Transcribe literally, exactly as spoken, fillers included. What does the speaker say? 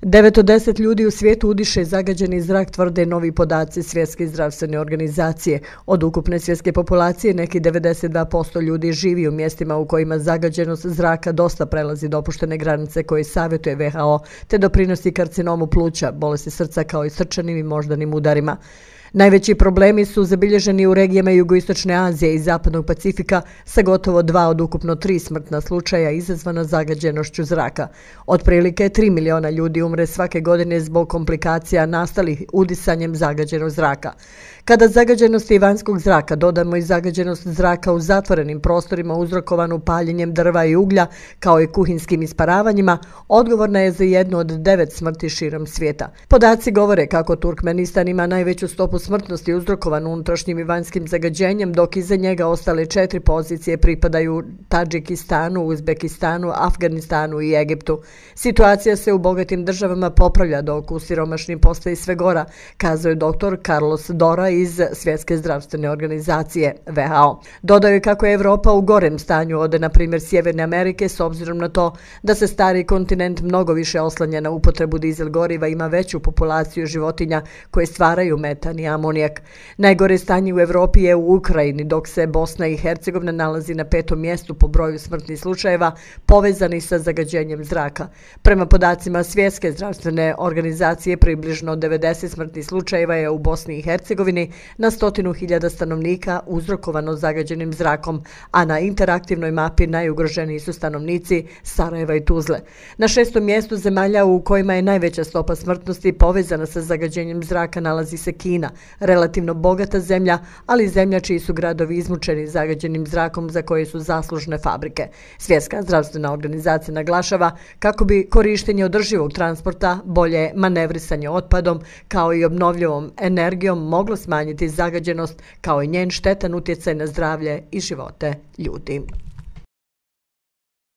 devet od deset ljudi u svijetu udiše zagađeni zrak, tvrde novi podaci Svjetske zdravstvene organizacije. Od ukupne svjetske populacije neki devedeset dva posto ljudi živi u mjestima u kojima zagađenost zraka dosta prelazi dopuštene granice koje savjetuje ve ha o, te doprinosi karcinomu pluća, bolesti srca kao i srčanim i moždanim udarima. Najveći problemi su zabilježeni u regijama Jugoistočne Azije i Zapadnog Pacifika sa gotovo dva od ukupno tri smrtna slučaja izazvana zagađenošću zraka. Otprilike tri miliona ljudi umre svake godine zbog komplikacija nastalih udisanjem zagađenog zraka. Kada zagađenosti vanjskog zraka dodamo i zagađenost zraka u zatvorenim prostorima uzrokovanu paljenjem drva i uglja kao i kuhinskim isparavanjima, odgovorna je za jednu od devet smrti širom svijeta. Podaci govore kako Turkmenistan ima najveću stopu smrtnosti uzrokovanu unutrašnjim i vanjskim zagađenjem, dok iza njega ostale četiri pozicije pripadaju Tadžikistanu, Uzbekistanu, Afganistanu i Egiptu. Situacija se u bogatim državama popravlja, dok u siromašnim postaje sve gora, kazao je doktor Carlos Dora iz Svjetske zdravstvene organizacije ve ha o. Dodao je kako je Evropa u gorem stanju od, na primjer, Sjeverne Amerike, s obzirom na to da se stari kontinent mnogo više oslanja na upotrebu dizel goriva, ima veću populaciju životinja koje stvaraju metan i amonijak. Najgore stanje u Evropi je u Ukrajini, dok se Bosna i Hercegovina nalazi na petom mjestu po broju smrtnih slučajeva povezanih sa zagađenjem zraka. Prema podacima Svjetske zdravstvene organizacije, približno devedeset smrtnih slučajeva je u Bosni i Hercegovini na stotinu hiljada stanovnika uzrokovano zagađenim zrakom, a na interaktivnoj mapi najugroženiji su stanovnici Sarajeva i Tuzle. Na šestom mjestu zemalja u kojima je najveća stopa smrtnosti povezana sa zagađenjem zraka nalazi se Kina, relativno bogata zemlja, ali zemlja čiji su gradovi izmučeni zagađenim zrakom za koje su zaslužne fabrike. Svjetska zdravstvena organizacija naglašava kako bi korištenje održivog transporta, bolje manevrisanje otpadom kao i obnovljivom energijom moglo smanjiti zagađenost kao i njen štetan utjecaj na zdravlje i živote ljudi.